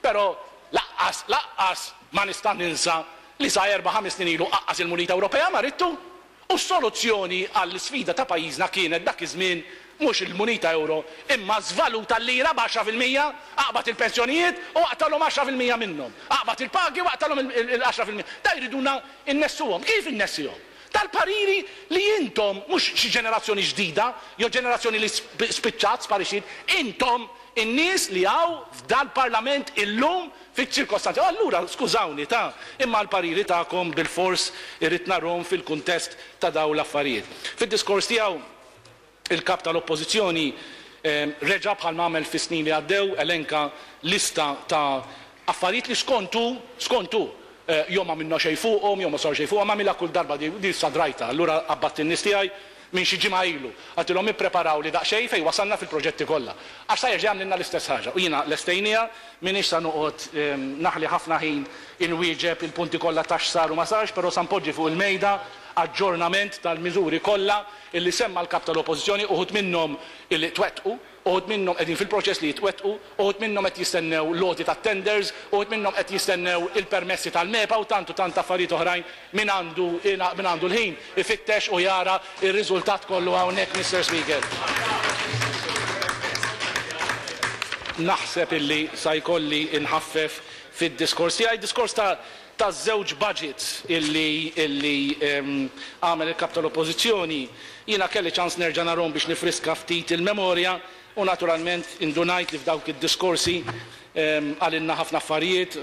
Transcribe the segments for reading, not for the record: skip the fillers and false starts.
Però laqqas, laqqas ma nista' ninsa li sa erba' ħames snin ilu aqqas il-munita Ewropea ma ridtu. U s-soluzzjoni għall-isfida ta' pajjiżna kienet dak iż-żmien mhux il-munita ewro imma żvaluta l-lira b'10%, aqbad il-pensjonijiet u aqtagħlhom 10% minnhom, aqbad il-pagi u aqtagħlhom il-10%. Da jriduna nnessuhom. Kif innessihom? Dal-pariri li intom, mhux xi ġenerazzjoni ġdida jew ġenerazzjoni li spiċċat, sparixxiet, intom in-nies li hawn f'dal-Parlament illum fiċ-ċirkostanzi. U allura, skużawni ta, imma l-pariri tagħkom bilfors irrid narhom fil-kuntest ta' dawn l-affarijiet. Fid-diskors tiegħu, il-Kap tal-Oppożizzjoni reġa' bħalma għamel fis-snin li għaddew elenka lista ta' affarijiet li skont hu, skont hu, jew m'għamilna xejn fuqhom jew ma sar xejn fuqhom, għamilha kull darba di, di issa drajtha, allura qabbadt in-nies tiegħi minn xi ġimgħa ilu, għedtilhom ippreparawli daqsxejn fejn wasalna fil-proġetti kollha. Għax sa jerġa' jagħmlilna l-istess ħaġa. U jiena lestejniha, m'iniex sa noqgħod naħli ħafna ħin inwieġeb il-punti kollha ta' x'sar u ma sarx, però sa npoġġi fuq il-mejda aġġornament tal-miżuri kollha illi semma l-Kap tal-Oppożizzjoni, uħud minnhom illi twettqu, uħud minnhom qegħdin fil-proċess li jitwettqu, uħud minnhom qed jistennew l-għoti tat-tenders, uħud minnhom qed jistennew il-permessi tal-MEPA u tant u tant affarijiet oħrajn min għandu min għandu l-ħin ifittex u jara r-riżultat kollu hawnhekk, Mister Speaker. Naħseb illi sa jkolli nħaffef fid-diskors tiegħi, diskors ta' taż-żewġ budgets illi illi għamel il-Kap tal-Oppożizzjoni, jiena kelli ċans nerġa' narhom biex nifriska ftit il-memorja u naturalment indunajt li f'dawk id-diskorsi qalilna ħafna affarijiet,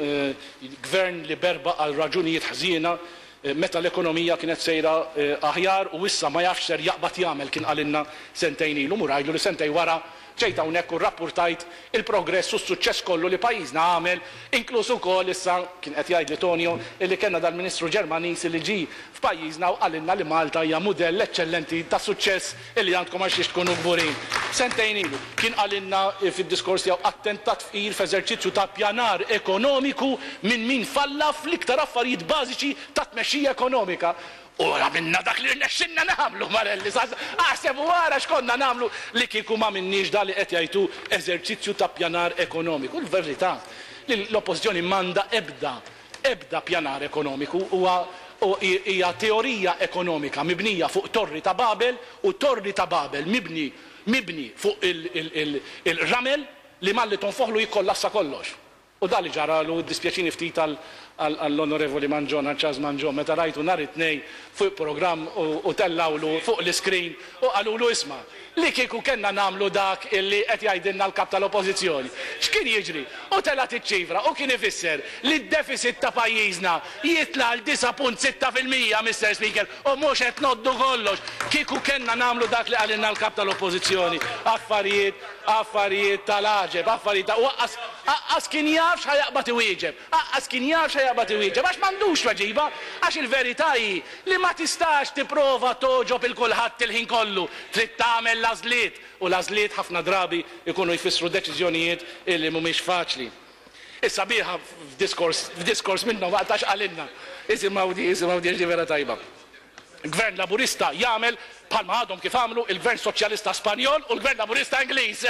Gvern li berbaq għal raġunijiet ħżiena meta l-ekonomija kienet sejra aħjar u issa ma jafx x'ser jaqbad jagħmel kien qalilna sentejn ilu. Mur għidlu li sentejn wara Ġejt hawnhekk u rrappurtajt il-progress u s-suċċess kollu li pajjiżna għamel, inkluż ukoll, issa, kien qed jgħidli Tonio, illi kellna dal-Ministru Ġermaniż illi ġie f'pajjiżna u qalilna li Malta hija mudell eċċellenti ta' suċċess illi għandkom għal xiex tkunu kburin. Sentejn ilu, kien qalilna fid-diskors tiegħu attentat fqir f'eżerċizzju ta' ppjanar ekonomiku minn min falla fl-iktar affarijiet bażiċi ta' tmexxija ekonomika. U għamilna dak li rnexxilna nagħmlu, Marelli, aħseb u ara x'konna nagħmlu li kieku m'għamilniex dan li qed jgħid hu eżerċizzju ta' ppjanar ekonomiku. Il-verità li l-Oppożizzjoni m'għandha ebda, ebda ppjanar ekonomiku, huwa hija teorija ekonomika mibnija fuq torri ta' Babel u torri ta' Babel mibni mibni fuq il-ramel li malli tonfoħlu jikkollassa kollox. U dan li ġaralu, iddispjaċini ftit għall-Onorevoli Mangion, għal Charles Mangion, meta rajtu nhar it-Tnejn fuq programm u tellgħulu fuq l-iscreen u qalulu isma', li kieku kellna nagħmlu dak illi qed jgħidilna l-Kap tal-Oppożizzjoni, x'kien jiġri? U telgħet iċ-ċifra u kien ifisser li d-deficit ta' pajjiżna jitla' għal 9.6%, Mister Speaker, u mhux qed ngħoddu kollox. Kieku kellna nagħmlu dak li qalilna l-Kap tal-Oppożizzjoni, affarijiet, affarijiet tal-għaġeb, affarijiet ta' u aqqas, aqqas kien jaf x'ħa jaqbad iwieġeb, aqqas kien jaf x'ħa jaqbad iwieġeb għax m'għandux tweġiba, għax il-verità hi li ma tistax tipprova togħġob 'il kulħadd il-ħin kollu, trid tagħmel l-għażliet, u l-għażliet ħafna drabi jkunu jfissru deċiżjonijiet illi mhumiex faċli. Is-sabiħa f'diskors, f'diskors minnhom waqt għax qalilna, isimgħu di, isimgħu di għax di vera tajba. Gvern Laburista jagħmel bħalma għadhom kif għamlu il-Gvern Soċjalista Spanjol u l-Gvern Laburista Ingliż.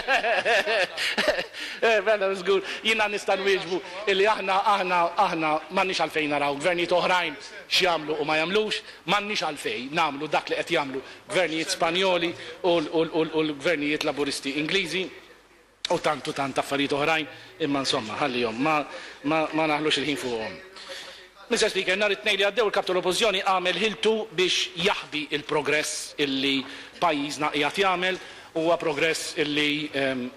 Mela żgur jiena nista' nwieġbu illi aħna aħna aħna m'għandniex għalfejn naraw gvernijiet oħrajn x'jagħmlu u ma jagħmlux, m'għandniex għalfejn nagħmlu dak li qed jagħmlu gvernijiet Spanjoli u l-gvernijiet Laburisti Ingliżi. U tant u tant affarijiet oħrajn, imma insomma, ħallihom, ma, ma, ma naħlux il-ħin fuqhom. Mister Speaker, nhar it-Tnejn li għaddew il-Kap tal-Oppożizzjoni għamel ħiltu biex jaħbi l-progress illi pajjiżna qiegħed jagħmel. Huwa progress illi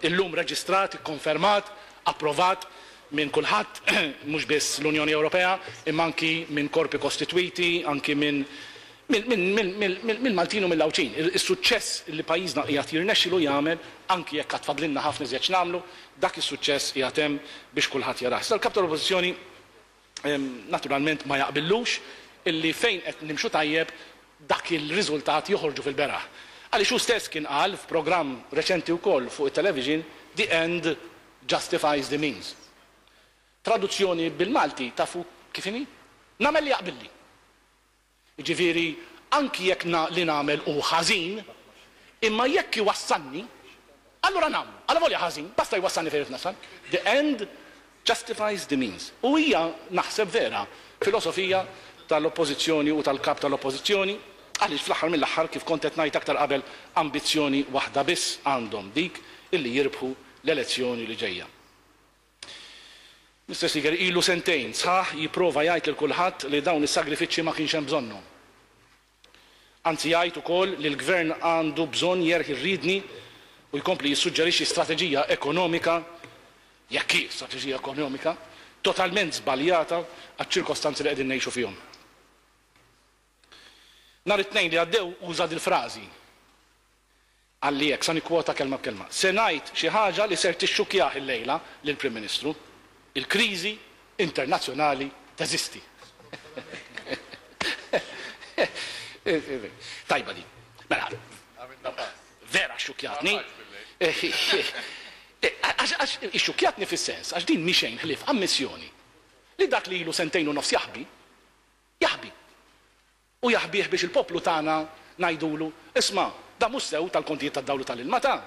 illum reġistrat, ikkonfermat, approvat minn kulħadd, mhux biss l-Unjoni Ewropea, imma anki minn korpi kostitwiti, anki minn Mill-Maltin u mill-Għawdxin. Is-suċċess li pajjiżna qiegħed jirnexxilu jagħmel, anki jekk għad fadlilna ħafna iżjed x'nagħmlu, dak is-suċċess qiegħed hemm biex kulħadd jarah. Iżda l-Kap tal-Oppożizzjoni naturalment ma jaqbillux illi fejn qed nimxu tajjeb dak il-riżultat joħorġu fil-beraħ. Għaliex hu stess kien qal f'programm reċenti wkoll fuq it-television, the end justifies the means. Traduzzjoni bil-Malti tafu kif inhi? Nagħmel li jaqbilli. Jiġifieri anki jekk na li nagħmel hu ħażin, imma jekk iwassalni, allura nagħmlu. Allavolja ħażin, basta jwassalni fejn irrid nasal. The end justifies the means. U hija, naħseb vera, filosofija tal-Oppożizzjoni u tal-Kap tal-Oppożizzjoni, għaliex fl-aħħar mill-aħħar, kif kont qed ngħid aktar qabel, ambizzjoni waħda biss għandhom, dik illi jirbħu l-elezzjoni li ġejja. Mister Speaker, ilu sentejn sħaħ jipprova jgħid lil kulħadd li dawn is-sagrifiċċji ma kienx hemm bżonnhom. Anzi jgħid ukoll li l-Gvern għandu bżonn jerħi r-riedni u jkompli jissuġġerixxi strateġija ekonomika, jekk hi strateġija ekonomika, totalment żbaljata għaċ-ċirkostanzi li qegħdin ngħixu fihom. Nhar it-Tnejn li għaddew uża dil-frażi. Qalli hekk, sa nikkwota kelma b'kelma, Se ngħid xi ħaġa li ser tixxukkjah illejla lill-Prim Ministru, il-kriżi internazzjonali teżisti. Tajba din. Mela, vera xxukkjatni. Għax ixxukkjatni fis-sens, għax din mhi xejn ħlief ammissjoni li dak li ilu sentejn u nofs jaħbi, jaħbi. U jaħbih biex il-poplu tagħna ngħidulu, isma', da mhux sew tal-kontijiet tad-dawl u tal-ilma ta'.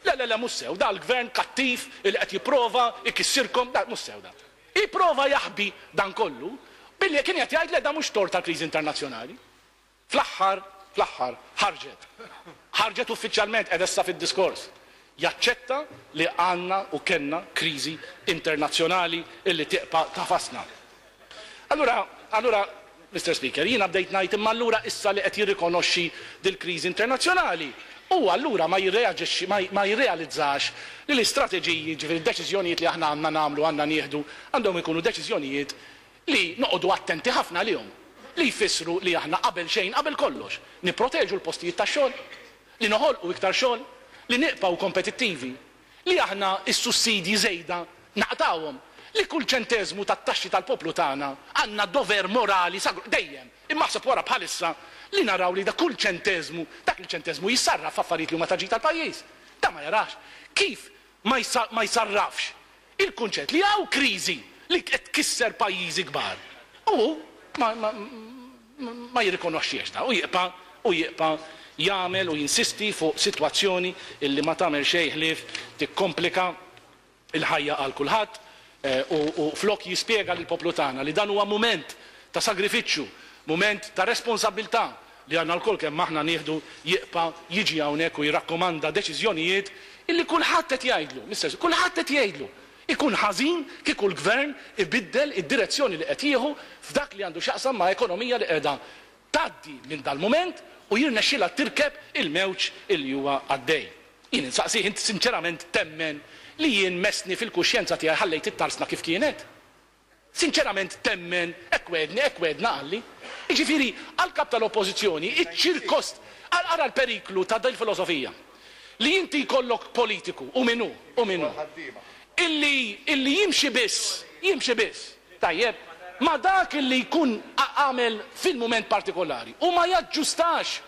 Le, le, le mhux sew, da l-gvern kattiv li qed jipprova jkissirkom, da mhux sew da. Ipprova jaħbi dan kollu billi kien qed jgħid le da mhux tort tal-kriżi internazzjonali. Fl-aħħar, fl-aħħar, ħarġet. Ħarġet uffiċjalment qiegħda issa fid-diskors. Jaċċetta li għandna u kellna kriżi internazzjonali illi tieqpa' tagħfasna. Allura, allura, Mister Speaker, jiena bdejt ngħid imma allura issa li qed jirrikonoxxi dil-kriżi internazzjonali, hu allura ma jirreaġixxi, ma, ma jirrealizzax li l-istrateġiji, jiġifieri d-deċiżjonijiet li aħna għandna nagħmlu, għandna nieħdu, għandhom ikunu deċiżjonijiet li noqogħdu attenti ħafna għalihom, li jfissru li aħna qabel xejn, qabel kollox, nipproteġu l-postijiet tax-xogħol, li noħolqu iktar xogħol, li nibqgħu kompetittivi. Li aħna s-sussidji żejda naqtgħuhom. Li kull ċenteżmu tat-taxxi tal-poplu tagħna għandna dover morali sagru, dejjem, imma aħseb wara bħalissa, li naraw li dak kull ċenteżmu, dak il-ċenteżmu jissarraf f'affarijiet li huma ta' ġid għall-pajjiż. Dan ma jarax. Kif ma ma jsarrafx il-kunċett li hawn kriżi li qed tkisser pajjiżi kbar u hu ma ma ma jirrikonoxxihx da u jibqa' u jibqa' jagħmel u jinsisti fuq sitwazzjoni illi ma tagħmel xejn ħlief tikkomplika l-ħajja għal kulħadd u u flok jispjega lill-poplu tagħna li dan huwa mument ta' sagrifiċċju, mument ta' responsabbiltà li għandna lkoll kemm aħna nieħdu jibqa' jiġi hawnhekk u jirrakkomanda deċiżjonijiet illi kulħadd qed jgħidlu, Mister kulħadd qed jgħidlu Ikun ħażin kieku l-Gvern ibiddel id-direzzjoni li qed jieħu f'dak li għandu x'jaqsam ma' ekonomija li qiegħda tgħaddi minn dal-mument u jirnexxilha tirkeb il-mewġ illi huwa għaddej. Jien insaqsih, int sinċerament temmen li jien messni fil-kuxjenza tiegħi ħallejt it-tarsna kif kienet? Sinċerament temmen, hekk wegħedni, hekk wegħedna qalli. Jiġifieri, għall-Kap tal-Oppożizzjoni, iċ-ċirkost, ara l-periklu ta' dil-filosofija. Li inti jkollok politiku, hu min hu, hu min hu, illi, illi jimxi biss, jimxi biss, tajjeb, ma' dak illi jkun għamel fil-mument partikolari u ma jaġġustax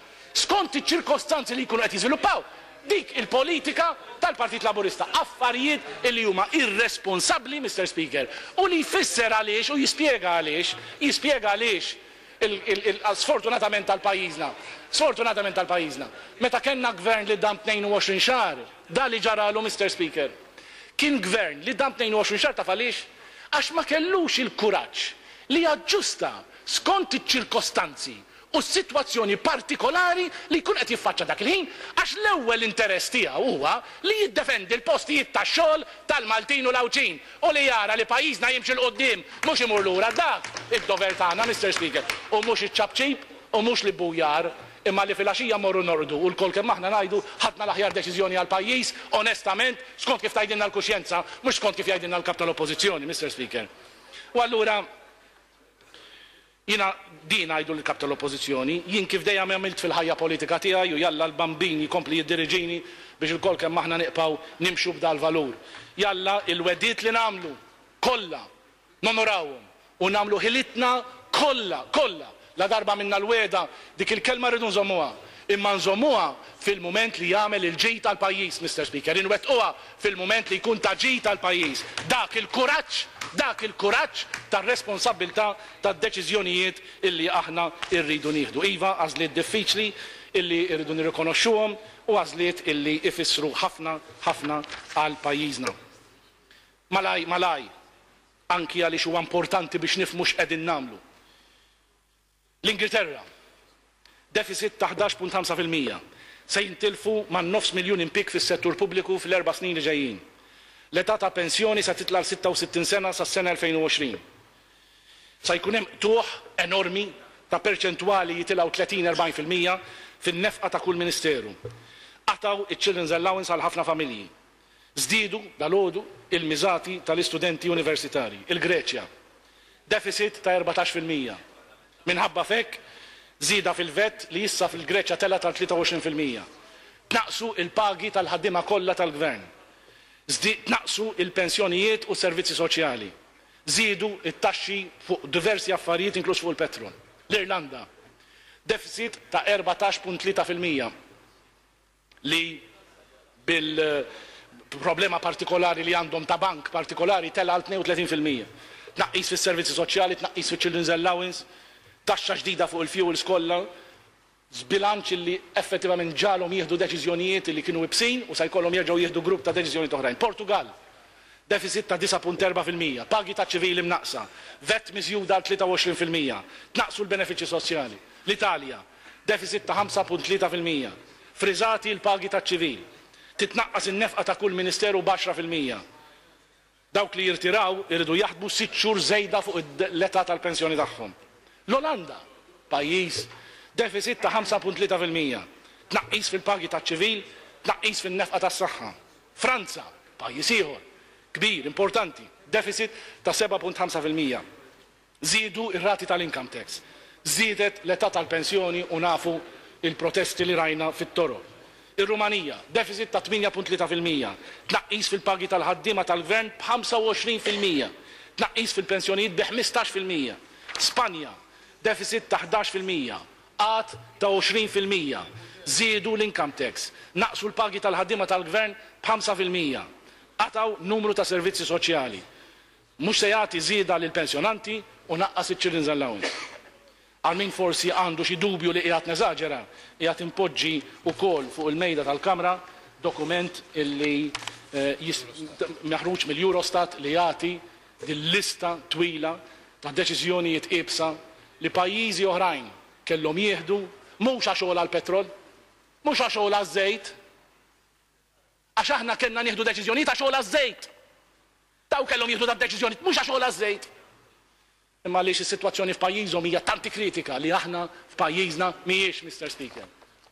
skont iċ-ċirkostanzi li jkunu qed jiżviluppaw. Dik il-politika tal-Partit Laburista. Affarijiet illi huma irresponsabbli, Mister Speaker, u li jfisser għaliex u jispjega għaliex, jispjega għaliex sfortunatament għal pajjiżna, sfortunatament għal pajjiżna, meta kellna gvern li dam 22 xahar, da li ġaralu, Mister Speaker. Kien gvern li dam 22 xahar taf għaliex? Għax ma kellux il-kuraġġ li jaġġusta skont iċ-ċirkostanzi u s-sitwazzjoni partikolari li jkun qed jiffaċċa dak il-ħin għax l-ewwel interess tiegħu huwa li jiddefendi l-postijiet tax-xogħol tal-Maltin u l-Għawdxin u li jara li pajjiżna jimxi 'l quddiem mhux imur lura. Dak id-dover tagħna, Mister Speaker, u mhux iċ-ċapċip u mhux l-ibbujar imma li filgħaxija mmorru norqdu u lkoll kemm aħna ngħidu ħadna l-aħjar deċiżjoni għall-pajjiż onestament skont kif tgħidilna l-kuxjenza mhux skont kif jgħidilna l-Kap tal-Oppożizzjoni, Mister Speaker. U allura Jiena din ngħidu lill-Kap tal-Oppożizzjoni, jien kif dejjem għamilt fil-ħajja politika tiegħi u jalla l-Bambin jkompli jiddiriġini biex ilkoll kemm aħna niqpgħu nimxu b'dal-valur. Jalla il-wegħdiet li nagħmlu kollha nonorawhom u nagħmlu ħilitna kollha, kollha, ladarba għamilna l-wegħda, dik il-kelma rridu nżommuha. Imma nżommuha fil-mument li jagħmel il-ġid għall-pajjiż, Mister Speaker, inwettquha fil-mument li jkun ta' ġid għall-pajjiż. Dak il-kuraġġ, dak il-kuraġġ tar-responsabbiltà tad-deċiżjonijiet illi aħna rridu nieħdu. Iva, għażliet diffiċli illi rridu nirrikonoxxuhom u għażliet illi jfissru ħafna, ħafna għal pajjiżna. Malaj, malaj. anki għaliex huwa importanti biex nifhmu x'qegħdin nagħmlu. L-Ingilterra, deficit ta' 11.5%, se jintilfu man-nofs miljun impieg fis-settur pubbliku fl-erba' snin li ġejjin. L-età ta' pensjoni se titla' għal 66 sena sas-sena 2020. Se jkun hemm qtugħ enormi ta' perċentwali jitilgħu 30, 40% fin-nefqa ta' kull ministeru. Qatgħu iċ-children's allowance għal ħafna familji. Żdiedu, dalgħodu, il-miżati tal-istudenti universitarji. Il-Greċja, deficit ta' 14%. Minħabba f'hekk, żieda fil-VAT li issa fil-Greċja telgħet għal 23%. Tnaqqsu l-pagi tal-ħaddiema kollha tal-Gvern. Tnaqqsu l-pensjonijiet u s-servizzi soċjali. Żiedu t-taxxi fuq diversi affarijiet inkluż fuq il-petrol. L-Irlanda, deficit ta' 14.3%. li bil-problema partikolari li għandhom ta' bank partikolari tela' għal 32%. Tnaqqis fis-servizzi soċjali, tnaqqis fiċ-children's allowance, taxxa ġdida fuq il-fuels kollha, żbilanċ li effettivament ġagħalhom jieħdu deċiżjonijiet li kienu ibsin u se jkollhom jerġgħu jieħdu grupp ta' deċiżjonijiet oħrajn. Portugall, deficit ta' 9.4%, pagi taċ-ċivili mnaqqsa, vat miżjuda għal 23%, tnaqqsu l-benefiċċji soċjali. L-Italja, deficit ta' 5.3%, friżati l-pagi taċ-ċivil, titnaqqas in-nefqa ta' kull ministeru b'10%. Dawk li jirtiraw iridu jaħdmu sitt xhur żejda fuq l-età tal-pensjoni tagħhom. L-Olanda, pajjiż, deficit ta' 5.3%, tnaqqis fil-pagi taċ-ċivil, tnaqqis fin-nefqa tas-saħħa. Franza, pajjiż ieħor, kbir, importanti, deficit ta' 7.5%. Żiedu r-rati tal-income tax. Żdiedet l-età tal-pensjoni u nafu l-protesti li rajna fit-toroq. Ir-Rumanija, deficit ta' 8.3%, tnaqqis fil-pagi tal-ħaddiema tal-gvern b'25%, tnaqqis fil-pensjonijiet bi 15%. Spanja, deficit ta' 11%, qgħad ta' 20%, żiedu l-income tax, naqqsu l-pagi tal-ħaddiema tal-gvern b'5%, qatgħu numru ta' servizzi soċjali. Mhux se jagħti żieda lill-pensjonanti u naqqas iċ-children's allowance. Għal min forsi għandu xi dubju li qiegħed neżaġera, qiegħed inpoġġi wkoll fuq il-mejda tal-Kamra dokument illi maħruġ mill-Eurostat li jagħti din lista twila ta' deċiżjonijiet iebsa li pajjiżi oħrajn kellhom jieħdu mhux għax għola l-petrol, mhux għax għola ż-żejt, Għax aħna kellna nieħdu deċiżjonijiet għax għola ż-żejt. Dawn kellhom jieħdu dad-deċiżjonijiet mhux għax għola ż-żejt, imma għaliex is-sitwazzjoni f'pajjiżhom hija tant kritika li aħna f'pajjiżna mhijiex, Mister Speaker.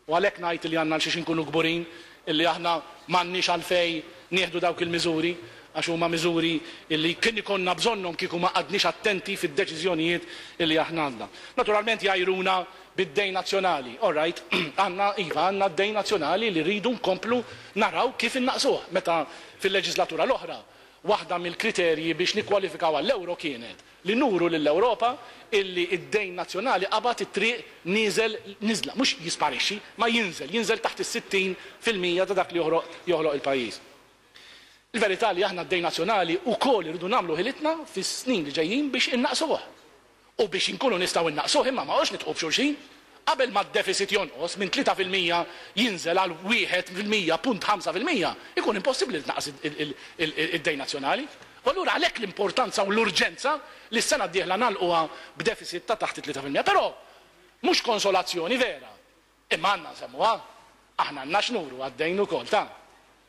U għalhekk ngħid li għandna għal xiex inkunu kburin illi aħna m'għandniex għalfejn nieħdu dawk il-miżuri għax huma miżuri illi kien ikollna bżonnhom kieku ma qgħadniex attenti fid-deċiżjonijiet illi aħna għandna. Naturalment jgħajruna bid-dejn nazzjonali. All right, għandna, iva, għandna d-dejn nazzjonali li rridu nkomplu naraw kif innaqqsuh. Meta fil-leġislatura l-oħra, waħda mill-kriterji biex nikkwalifikaw għall-ewro kienet li nuru lill-Ewropa illi d-dejn nazzjonali qabad it-triq nieżel niżla, mhux jisparixxi, ma jinżel, jinżel taħt is-60% ta' dak li joħloq il-pajjiż. Il-verità li aħna d-dejn nazzjonali wkoll irridu nagħmlu ħilitna fis-snin li ġejjin biex innaqqsuh. U biex inkunu nistgħu nnaqqsuh imma ma għox nidħqu b'xulxin. Qabel ma d-deficit jonqos minn 3% jinżel għal 1.5% ikun impossibbli li tnaqqas id-dejn nazzjonali. U allura għalhekk l-importanza u l-urġenza li s-sena d-dieħla nagħlquha b'deficit ta' taħt it-3%. Però mhux konsolazzjoni vera. Imma għandna nsemmuha. Aħna għandna x'nuru għad-dejn ukoll ta'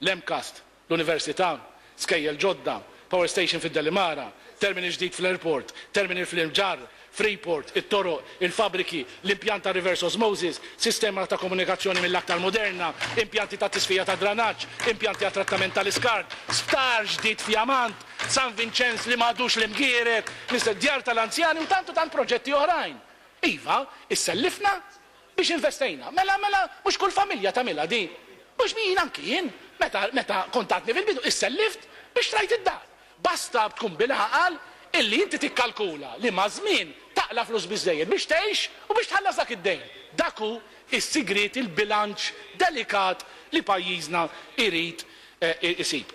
l-MCAST, l-Università, skejjel ġodda, power station fid-Delimara, terminal ġdid fl-airport, terminal fl-Imġarr, Freeport, it-toroq, il-fabbriki, l-impjant ta' reverse osmosis, sistema ta' komunikazzjoni mill-aktar moderna, impjanti ta' tisfija tad-dranaġġ, impjanti għat-trattament tal-iskart, sptar ġdid fjamant, San Vinċenz li m'għadux l-Imgieret, djar tal-anzjani u tant u tant proġetti oħrajn. Iva, issellifna Biex investejna. Mela, mela, mhux kull familja tagħmilha din. Mhux jien anki jien, meta, meta kont għadni fil-bidu, issellift biex xtrajt id-dar. Basta tkun bil-għaqal illi inti tikkalkula li maż-żmien taqla' flus biżżejjed biex tgħix u biex tħallas dak id-dejn. Dak hu s-sigriet, il-bilanċ delikat li pajjiżna jrid isib.